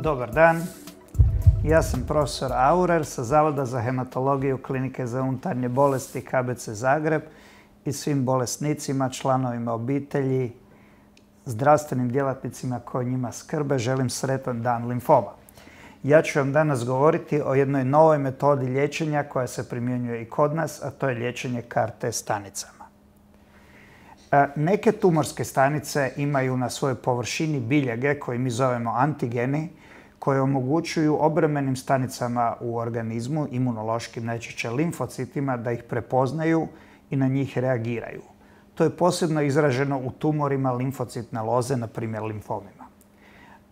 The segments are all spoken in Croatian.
Dobar dan. Ja sam profesor Aurer sa Zavoda za hematologiju Klinike za unutarnje bolesti KBC Zagreb i svim bolesnicima, članovima obitelji, zdravstvenim djelatnicima koji njima skrbe želim sretan dan limfoma. Ja ću vam danas govoriti o jednoj novoj metodi liječenja koja se primjenjuje i kod nas, a to je liječenje CAR-T stanicama. Neke tumorske stanice imaju na svojoj površini biljege koje mi zovemo antigeni, koje omogućuju obrambenim stanicama u organizmu, imunološkim, najčešće limfocitima, da ih prepoznaju i na njih reagiraju. To je posebno izraženo u tumorima limfocitne loze, na primjer limfomima.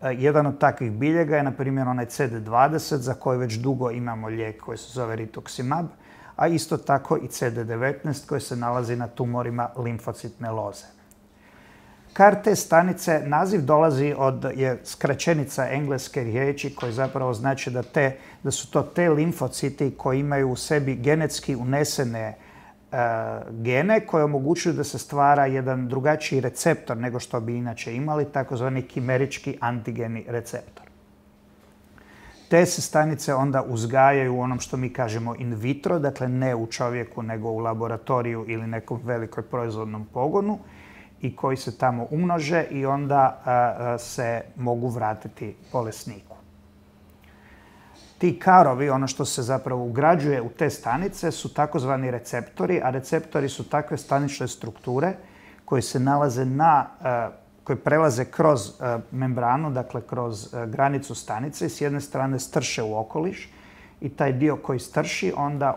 Jedan od takvih biljega je, na primjer, onaj CD20, za koji već dugo imamo lijek koji se zove rituximab, a isto tako i CD19 koji se nalazi na tumorima limfocitne loze. CAR-T stanice, naziv dolazi je skraćenica engleske riječi koji zapravo znači da su to te limfociti koji imaju u sebi genetski unesene gene koje omogućuju da se stvara jedan drugačiji receptor nego što bi inače imali, takozvani kimerički antigeni receptor. Te se stanice onda uzgajaju u onom što mi kažemo in vitro, dakle ne u čovjeku nego u laboratoriju ili nekom velikoj proizvodnom pogonu, i koji se tamo umnože i onda se mogu vratiti bolesniku. Ti karovi, ono što se zapravo ugrađuje u te stanice, su takozvani receptori, a receptori su takve stanične strukture koje se nalaze koje prelaze kroz membranu, dakle kroz granicu stanice i s jedne strane strše u okoliš i taj dio koji strši, onda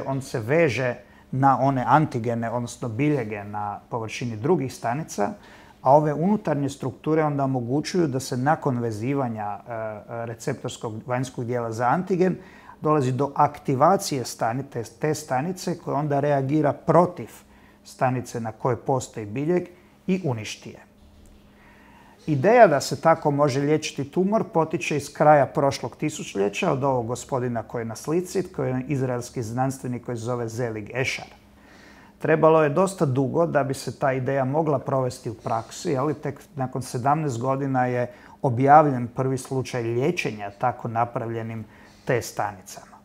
on se veže na one antigene, odnosno biljege na površini drugih stanica, a ove unutarnje strukture onda omogućuju da se nakon vezivanja receptorskog vanjskog dijela za antigen dolazi do aktivacije te stanice koja onda reagira protiv stanice na kojoj postoji biljeg i uništi je. Ideja da se tako može liječiti tumor potiče iz kraja prošlog tisućljeća od ovog gospodina koji je na slici, koji je izraelski znanstvenik koji se zove Zelig Ešar. Trebalo je dosta dugo da bi se ta ideja mogla provesti u praksi, ali tek nakon 17 godina je objavljen prvi slučaj liječenja tako napravljenim T stanicama.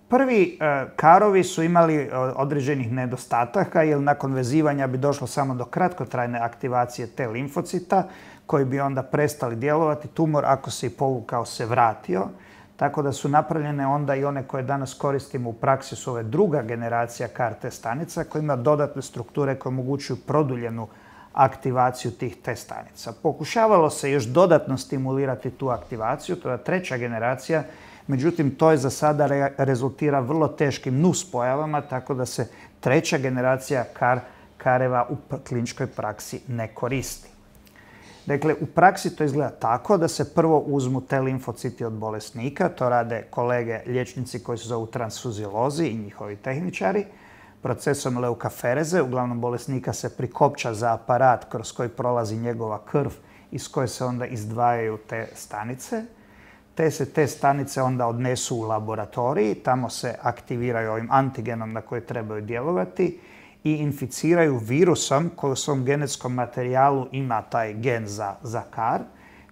Prvi karovi su imali određenih nedostataka jer nakon vezivanja bi došlo samo do kratkotrajne aktivacije T limfocita koji bi onda prestali djelovati. Tumor, ako se i povukao, se vratio. Tako da su napravljene onda i one koje danas koristimo u praksi su ove druga generacija CAR-T stanica koja ima dodatne strukture koje omogućuju produljenu aktivaciju tih T stanica. Pokušavalo se još dodatno stimulirati tu aktivaciju, to je treća generacija. Međutim, to je za sada rezultira vrlo teškim nuspojavama, tako da se treća generacija kareva u kliničkoj praksi ne koristi. Dakle, u praksi to izgleda tako da se prvo uzmu te limfociti od bolesnika, to rade kolege liječnici koji se zovu transfuziolozi i njihovi tehničari. Procesom leukafereze, uglavnom bolesnika se prikopča za aparat kroz koji prolazi njegova krv iz koje se onda izdvajaju te stanice. Te stanice onda odnesu u laboratoriji, tamo se aktiviraju ovim antigenom na koje trebaju djelovati i inficiraju virusom koji u svom genetskom materijalu ima taj gen za CAR,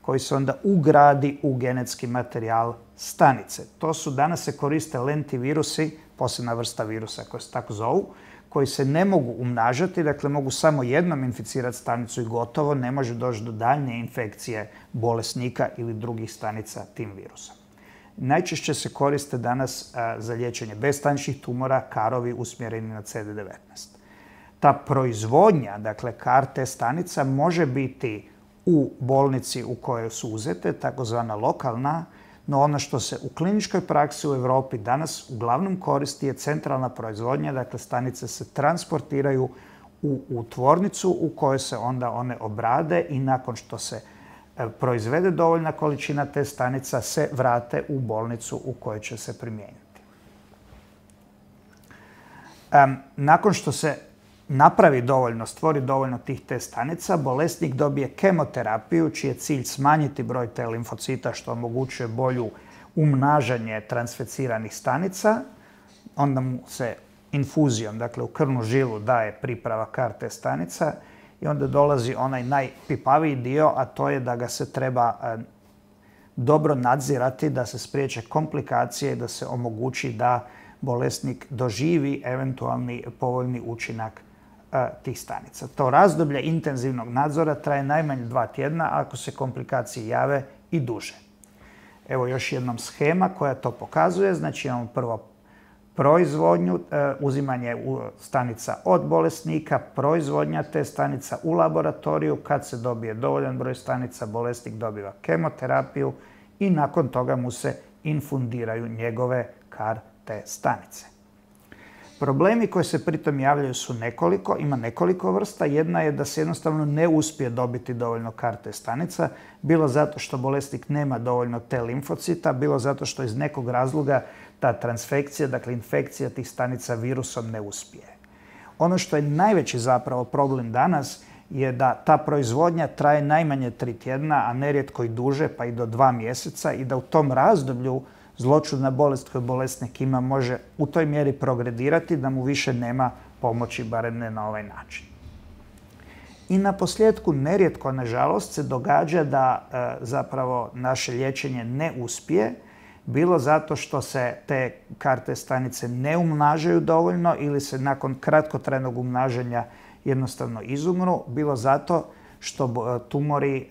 koji se onda ugradi u genetski materijal stanice. Danas se koriste lentivirusi, posebna vrsta virusa koji se tako zovu, koji se ne mogu umnažati, dakle mogu samo jednom inficirati stanicu i gotovo, ne može doći do daljnje infekcije bolesnika ili drugih stanica tim virusom. Najčešće se koriste danas za liječenje bezstaničnih tumora karovi usmjereni na CD19. Ta proizvodnja, dakle CAR-T stanica, može biti u bolnici u kojoj su uzete, takozvana lokalna, no ono što se u kliničkoj praksi u Europi danas uglavnom koristi je centralna proizvodnja, dakle stanice se transportiraju u tvornicu u kojoj se onda one obrade i nakon što se proizvede dovoljna količina te stanica se vrate u bolnicu u kojoj će se primijeniti. Nakon što se napravi dovoljno, stvori dovoljno tih T stanica, bolesnik dobije kemoterapiju čiji je cilj smanjiti broj T limfocita što omogućuje bolju umnažanje transfeciranih stanica. Onda mu se infuzijom, dakle u krvnu žilu, daje priprava CAR-T stanica i onda dolazi onaj najpipaviji dio, a to je da ga se treba dobro nadzirati, da se spriječe komplikacije i da se omogući da bolesnik doživi eventualni povoljni učinak tih stanica. To razdoblje intenzivnog nadzora traje najmanje 2 tjedna, ako se komplikacije jave i duže. Evo još jednom shema koja to pokazuje. Znači imamo prvo proizvodnju, uzimanje stanica od bolesnika, proizvodnja te stanica u laboratoriju. Kad se dobije dovoljan broj stanica, bolesnik dobiva kemoterapiju i nakon toga mu se infundiraju njegove CAR-T stanice. Problemi koji se pritom javljaju su nekoliko, ima nekoliko vrsta. Jedna je da se jednostavno ne uspije dobiti dovoljno CAR-T stanica, bilo zato što bolesnik nema dovoljno T limfocita, bilo zato što iz nekog razloga ta transfekcija, dakle infekcija tih stanica virusom ne uspije. Ono što je najveći zapravo problem danas je da ta proizvodnja traje najmanje 3 tjedna, a nerijetko i duže, pa i do 2 mjeseca i da u tom razdoblju zloćudna bolest koju bolesnik ima može u toj mjeri progredirati da mu više nema pomoći, barem ne na ovaj način. I na posljedku nerijetko, nažalost, se događa da zapravo naše liječenje ne uspije, bilo zato što se te CAR-T stanice ne umnažaju dovoljno ili se nakon kratkotrajnog umnažanja jednostavno izumru, bilo zato što tumori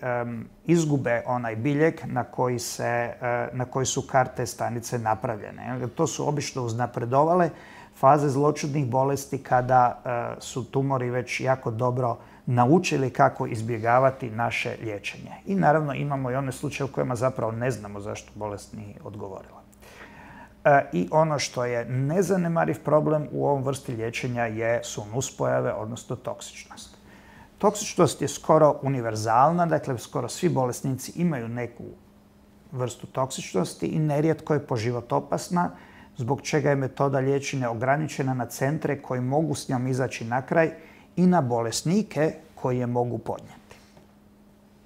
izgube onaj biljeg na koji su CAR-T stanice napravljene. To su obično uznapredovale faze zloćudnih bolesti kada su tumori već jako dobro naučili kako izbjegavati naše liječenje. I naravno imamo i one slučaje u kojima zapravo ne znamo zašto bolest nije odgovorila. I ono što je nezanemariv problem u ovom vrsti liječenja su nuspojave, odnosno toksičnost. Toksičnost je skoro univerzalna, dakle skoro svi bolesnici imaju neku vrstu toksičnosti i nerijetko je po život opasna, zbog čega je metoda liječenja ograničena na centre koji mogu s njom izaći na kraj i na bolesnike koji je mogu podnijeti.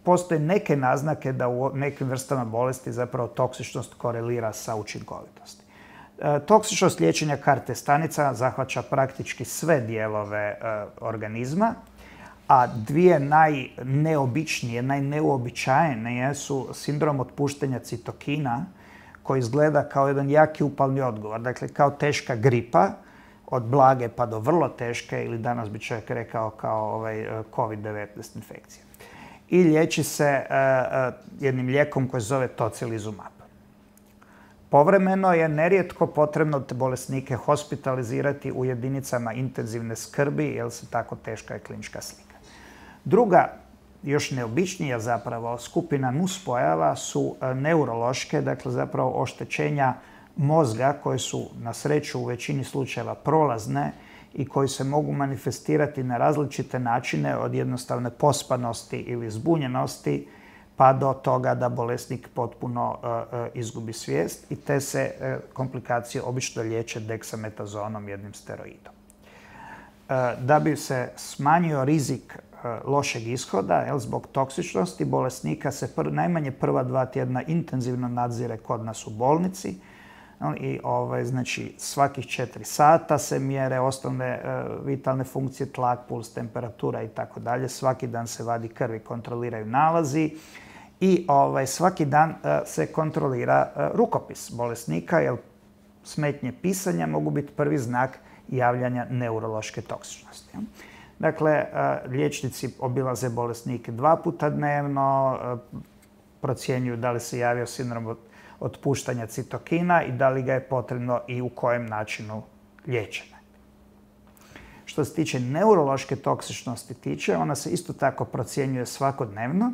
Postoje neke naznake da u nekim vrstama bolesti zapravo toksičnost korelira sa učinkovitosti. Toksičnost liječenja CAR-T stanica zahvaća praktički sve dijelove organizma, a dvije najneobičnije, najneuobičajenije su sindrom otpuštanja citokina, koji izgleda kao jedan jaki upalni odgovor, dakle kao teška gripa, od blage pa do vrlo teške, ili danas bi čovjek rekao kao COVID-19 infekcija. I liječi se jednim lijekom koji se zove tocilizumab. Povremeno je nerijetko potrebno te bolesnike hospitalizirati u jedinicama intenzivne skrbi, jer se tako teška je klinička slika. Druga, još neobičnija zapravo skupina nuspojava su neurološke, dakle zapravo oštećenja mozga koje su na sreću u većini slučajeva prolazne i koji se mogu manifestirati na različite načine, od jednostavne pospanosti ili zbunjenosti pa do toga da bolesnik potpuno izgubi svijest i te se komplikacije obično liječe deksametazonom, jednim steroidom. Da bi se smanjio rizik lošeg ishoda, zbog toksičnosti bolesnika se najmanje prva 2 tjedna intenzivno nadzire kod nas u bolnici. I znači svakih 4 sata se mjere osnovne vitalne funkcije, tlak, puls, temperatura i tako dalje. Svaki dan se vadi krv i kontroliraju nalazi i svaki dan se kontrolira rukopis bolesnika, jer smetnje pisanja mogu biti prvi znak javljanja neurološke toksičnosti. Dakle, liječnici obilaze bolesnike 2 puta dnevno, procjenjuju da li se javio sindrom otpuštanja citokina i da li ga je potrebno i u kojem načinu liječenja. Što se tiče neurološke toksičnosti ona se isto tako procjenjuje svakodnevno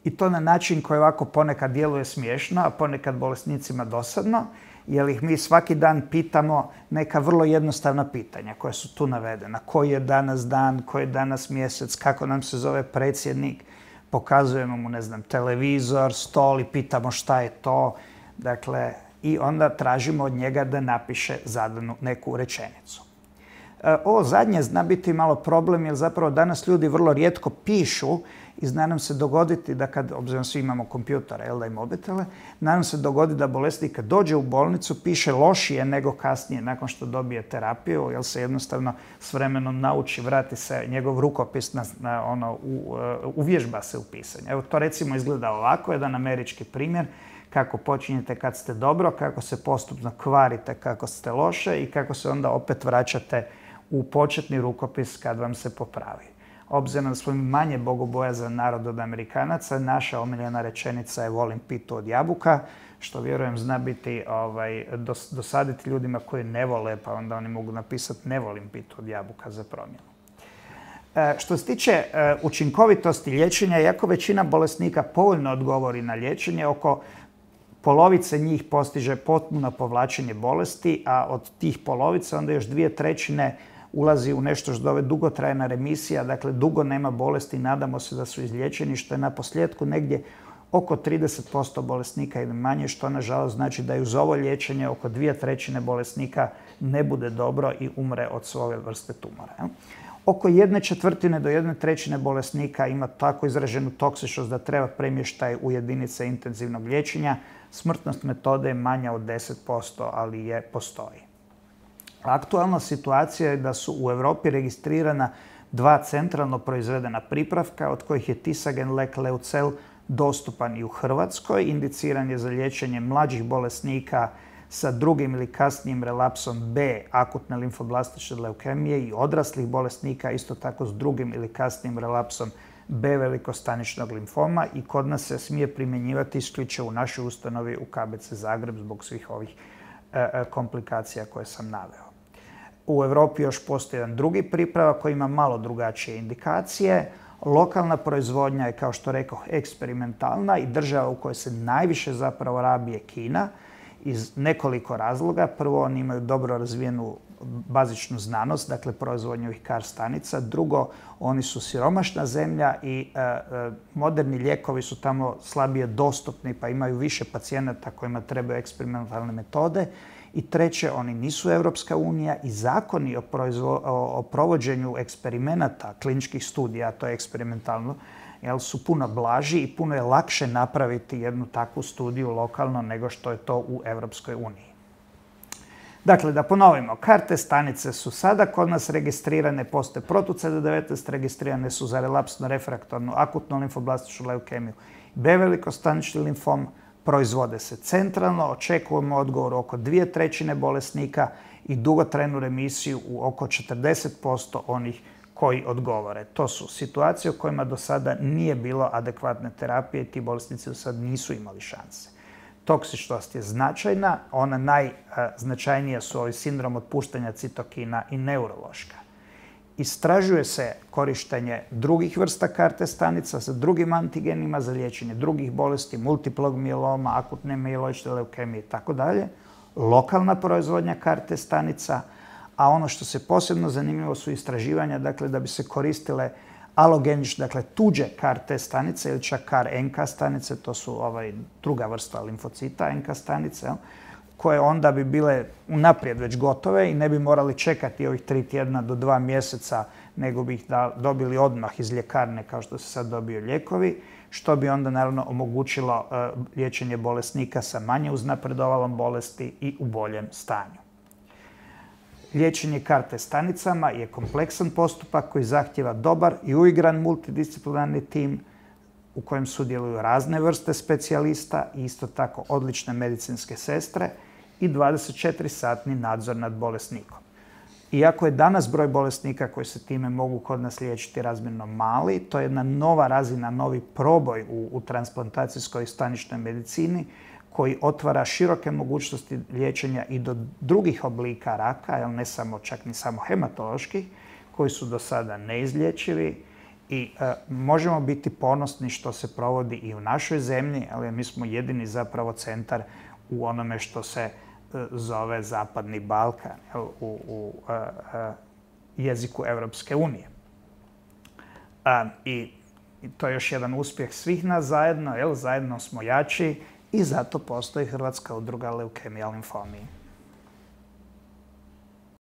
i to na način koji ovako ponekad djeluje smiješno, a ponekad bolesnicima dosadno, jer ih mi svaki dan pitamo neka vrlo jednostavna pitanja koja su tu navedena. Koji je danas dan, koji je danas mjesec, kako nam se zove predsjednik. Pokazujemo mu, televizor, stol i pitamo šta je to. Dakle, i onda tražimo od njega da napiše zadanu neku rečenicu. Ovo zadnje zna biti malo problem jer zapravo danas ljudi vrlo rijetko pišu i zna nam se dogoditi da kad, obzirom svi imamo kompjutore i mobitele, zna nam se dogodi da bolesnik kad dođe u bolnicu piše lošije nego kasnije nakon što dobije terapiju, jer se jednostavno s vremenom nauči, vrati se njegov rukopis, uvježba se u pisanju. Evo to recimo izgleda ovako, jedan američki primjer kako počinjete kad ste dobro, kako se postupno kvarite kako ste loše i kako se onda opet vraćate u početni rukopis kad vam se popravi. Obzirom da smo manje bogobojazan narod od Amerikanaca, naša omiljena rečenica je volim pitu od jabuka, što vjerujem zna biti dosaditi ljudima koji ne vole, pa onda oni mogu napisati ne volim pitu od jabuka za promjenu. Što se tiče učinkovitosti liječenja, iako većina bolesnika povoljno odgovori na liječenje, oko polovice njih postiže potpuno povlačenje bolesti, a od tih polovice onda još 2/3 ulazi u nešto što zove dugotrajna remisija, dakle dugo nema bolesti, nadamo se da su izliječeni, što je na posljedku negdje oko 30% bolesnika ili manje, što nažalost znači da i uz ovo liječenje oko 2/3 bolesnika ne bude dobro i umre od svoje vrste tumora. Oko 1/4 do 1/3 bolesnika ima tako izraženu toksičnost da treba premještaj u jedinice intenzivnog liječenja. Smrtnost metode je manja od 10%, ali postoji. Aktualna situacija je da su u Europi registrirana 2 centralno proizvedena pripravka, od kojih je Tisagen lek Leucel dostupan i u Hrvatskoj. Indiciran je za liječenje mlađih bolesnika sa drugim ili kasnijim relapsom B akutne limfoblastične leukemije i odraslih bolesnika isto tako s drugim ili kasnijim relapsom B velikostaničnog limfoma i kod nas se smije primjenjivati isključivo u našoj ustanovi u KBC Zagreb zbog svih ovih komplikacija koje sam naveo. U Europi još postoji jedan drugi pripravak koji ima malo drugačije indikacije. Lokalna proizvodnja je, kao što rekoh, eksperimentalna i država u kojoj se najviše zapravo rabi je Kina iz nekoliko razloga. Prvo, oni imaju dobro razvijenu bazičnu znanost, dakle proizvodnju ovih CAR stanica. Drugo, oni su siromašna zemlja i moderni lijekovi su tamo slabije dostupni pa imaju više pacijenata kojima trebaju eksperimentalne metode. I treće, oni nisu Europska unija i zakoni o provođenju eksperimenata, kliničkih studija, to je eksperimentalno, su puno blaži i puno je lakše napraviti jednu takvu studiju lokalno nego što je to u Europskoj uniji. Dakle, da ponovimo, CAR-T stanice su sada kod nas registrirane, postoje protu-CD19, registrirane su za relapsno refraktornu akutnu limfoblastičnu leukemiju, B velikostanični limfom, proizvode se centralno, očekujemo odgovor oko 2/3 bolesnika i dugotrajnu remisiju u oko 40% onih koji odgovore. To su situacije u kojima do sada nije bilo adekvatne terapije i ti bolesnici do sada nisu imali šanse. Toksičnost je značajna, ona najznačajnija su ovi sindrom otpuštanja citokina i neurološka. Istražuje se korištenje drugih vrsta CAR-T stanica sa drugim antigenima za liječenje drugih bolesti, multiplog mieloma, akutne mieloične leukemije itd. Lokalna proizvodnja CAR-T stanica, a ono što se posebno zanimljivo su istraživanja, dakle da bi se koristile alogenične, dakle tuđe CAR-T stanice ili čak CAR-NK stanice, to su druga vrsta limfocita, NK stanice, koje onda bi bile unaprijed već gotove i ne bi morali čekati ovih 3 tjedna do 2 mjeseca, nego bi ih dobili odmah iz ljekarne kao što se sad dobiju lijekovi, što bi onda naravno omogućilo liječenje bolesnika sa manje uznapredovalom bolesti i u boljem stanju. Liječenje CAR-T stanicama je kompleksan postupak koji zahtijeva dobar i uigran multidisciplinarni tim u kojem sudjeluju razne vrste specijalista i isto tako odlične medicinske sestre i 24-satni nadzor nad bolesnikom. Iako je danas broj bolesnika koji se time mogu kod nas liječiti razmjerno mali, to je jedna nova razina, novi proboj u transplantacijskoj i staničnoj medicini koji otvara široke mogućnosti liječenja i do drugih oblika raka, ne samo, čak ni samo hematoloških, koji su do sada neizlječivi. I možemo biti ponosni što se provodi i u našoj zemlji, ali mi smo jedini zapravo centar u onome što se zove Zapadni Balkan u jeziku Europske unije. I to je još jedan uspjeh svih nas zajedno, zajedno smo jači i zato postoji Hrvatska udruga leukemija limfomiji.